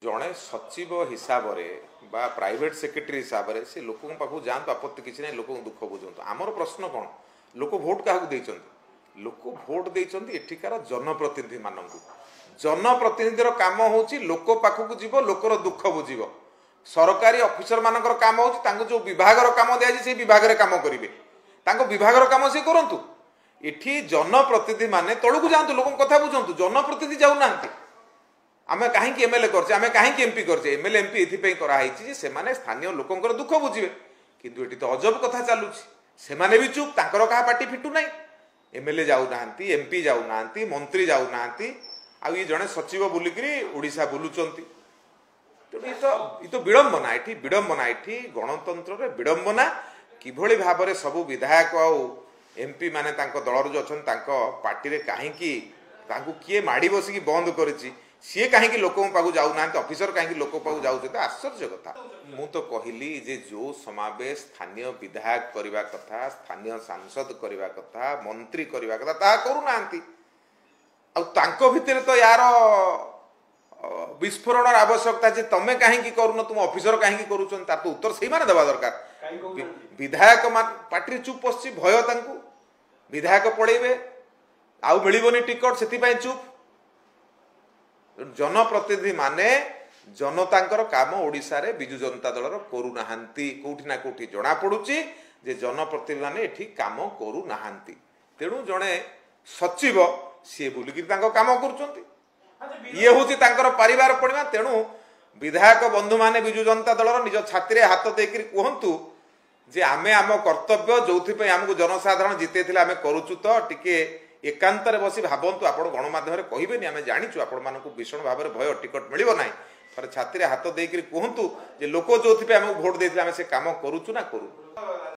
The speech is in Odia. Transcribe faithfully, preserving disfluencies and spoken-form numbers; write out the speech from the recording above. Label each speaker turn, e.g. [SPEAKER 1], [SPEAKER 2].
[SPEAKER 1] ଜଣେ ସଚିବ ହିସାବରେ ବା ପ୍ରାଇଭେଟ ସେକ୍ରେଟାରୀ ହିସାବରେ ସେ ଲୋକଙ୍କ ପାଖକୁ ଯାଆନ୍ତୁ, ଆପତ୍ତି କିଛି ନାହିଁ, ଲୋକଙ୍କ ଦୁଃଖ ବୁଝନ୍ତୁ। ଆମର ପ୍ରଶ୍ନ କ'ଣ, ଲୋକ ଭୋଟ କାହାକୁ ଦେଇଛନ୍ତି? ଲୋକ ଭୋଟ ଦେଇଛନ୍ତି ଏଠିକାର ଜନପ୍ରତିନିଧିମାନଙ୍କୁ। ଜନପ୍ରତିନିଧିର କାମ ହେଉଛି ଲୋକ ପାଖକୁ ଯିବ, ଲୋକର ଦୁଃଖ ବୁଝିବ। ସରକାରୀ ଅଫିସର ମାନଙ୍କର କାମ ହେଉଛି ତାଙ୍କୁ ଯେଉଁ ବିଭାଗର କାମ ଦିଆଯାଇଛି ସେଇ ବିଭାଗରେ କାମ କରିବେ, ତାଙ୍କ ବିଭାଗର କାମ ସେ କରନ୍ତୁ। ଏଠି ଜନପ୍ରତିନିଧି ମାନେ ତଳକୁ ଯାଆନ୍ତୁ, ଲୋକଙ୍କ କଥା ବୁଝନ୍ତୁ। ଜନପ୍ରତିନିଧି ଯାଉନାହାନ୍ତି। ଆମେ କାହିଁକି ଏମଏଲଏ କରିଛେ, ଆମେ କାହିଁକି ଏମପି କରିଛେ? ଏମଏଲଏ ଏମପି ଏଥିପାଇଁ କରାହେଇଛି ଯେ ସେମାନେ ସ୍ଥାନୀୟ ଲୋକଙ୍କର ଦୁଃଖ ବୁଝିବେ। କିନ୍ତୁ ଏଠି ତ ଅଜବ କଥା ଚାଲୁଛି, ସେମାନେ ବି ଚୁପ୍, ତାଙ୍କର କାହା ପାଟି ଫିଟୁ ନାହିଁ। ଏମଏଲଏ ଯାଉନାହାନ୍ତି, ଏମପି ଯାଉନାହାନ୍ତି, ମନ୍ତ୍ରୀ ଯାଉନାହାନ୍ତି, ଆଉ ଇଏ ଜଣେ ସଚିବ ବୁଲିକିରି ଓଡ଼ିଶା ବୁଲୁଛନ୍ତି। ତେଣୁ ଏ ତ ଏ ତ ବିଡ଼ମ୍ବନା, ଏଠି ବିଡ଼ମ୍ବନା, ଏଠି ଗଣତନ୍ତ୍ରରେ ବିଡ଼ମ୍ବନା। କିଭଳି ଭାବରେ ସବୁ ବିଧାୟକ ଆଉ ଏମପି ମାନେ ତାଙ୍କ ଦଳର ଯେଉଁ ଅଛନ୍ତି ତାଙ୍କ ପାର୍ଟିରେ କାହିଁକି ତାଙ୍କୁ କିଏ ମାଡ଼ି ବସିକି ବନ୍ଦ କରିଛି, ସିଏ କାହିଁକି ଲୋକଙ୍କ ପାଖକୁ ଯାଉନାହାନ୍ତି, ଅଫିସର କାହିଁକି ଲୋକଙ୍କ ପାଖକୁ ଯାଉଛନ୍ତି? ଆଶ୍ଚର୍ଯ୍ୟ କଥା। ମୁଁ ତ କହିଲି ଯେ ଯେଉଁ ସମାବେଶ ସ୍ଥାନୀୟ ବିଧାୟକ କରିବା କଥା, ସ୍ଥାନୀୟ ସାଂସଦ କରିବା କଥା, ମନ୍ତ୍ରୀ କରିବା କଥା, ତାହା କରୁନାହାନ୍ତି। ଆଉ ତାଙ୍କ ଭିତରେ ତ ୟାର ବିସ୍ଫୋରଣର ଆବଶ୍ୟକତା ଯେ ତମେ କାହିଁକି କରୁନ, ତୁମ ଅଫିସର କାହିଁକି କରୁଛନ୍ତି, ତାର ତ ଉତ୍ତର ସେଇମାନେ ଦେବା ଦରକାର। ବିଧାୟକ ପାର୍ଟିରେ ଚୁପ୍ ପଶିଛି, ଭୟ ତାଙ୍କୁ, ବିଧାୟକ ପଳେଇବେ ଆଉ ମିଳିବନି ଟିକଟ, ସେଥିପାଇଁ ଚୁପ୍। ଜନପ୍ରତିନିଧି ମାନେ ଜନତାଙ୍କର କାମ ଓଡ଼ିଶାରେ ବିଜୁ ଜନତା ଦଳର କରୁନାହାନ୍ତି। କୋଉଠି ନା କୋଉଠି ଜଣାପଡୁଛି ଯେ ଜନପ୍ରତିନିଧି ମାନେ ଏଠି କାମ କରୁନାହାନ୍ତି। ତେଣୁ ଜଣେ ସଚିବ ସିଏ ବୁଲିକିରି ତାଙ୍କ କାମ କରୁଛନ୍ତି, ଇଏ ହେଉଛି ତାଙ୍କର ପାରିବାର ପଣିମା। ତେଣୁ ବିଧାୟକ ବନ୍ଧୁମାନେ ବିଜୁ ଜନତା ଦଳର ନିଜ ଛାତିରେ ହାତ ଦେଇକରି କୁହନ୍ତୁ ଯେ ଆମେ ଆମ କର୍ତ୍ତବ୍ୟ ଯୋଉଥିପାଇଁ ଆମକୁ ଜନସାଧାରଣ ଜିତେଇଥିଲେ ଆମେ କରୁଛୁ। ତ ଟିକେ ଏକାନ୍ତରେ ବସି ଭାବନ୍ତୁ, ଆପଣ ଗଣମାଧ୍ୟମରେ କହିବେନି, ଆମେ ଜାଣିଛୁ ଆପଣମାନଙ୍କୁ ଭୀଷଣ ଭାବରେ ଭୟ, ଟିକଟ ମିଳିବ ନାହିଁ। ଥରେ ଛାତିରେ ହାତ ଦେଇକରି କୁହନ୍ତୁ ଯେ ଲୋକ ଯୋଉଥିପାଇଁ ଆମକୁ ଭୋଟ ଦେଇଥିଲେ ଆମେ ସେ କାମ କରୁଛୁ ନା କରୁନୁ।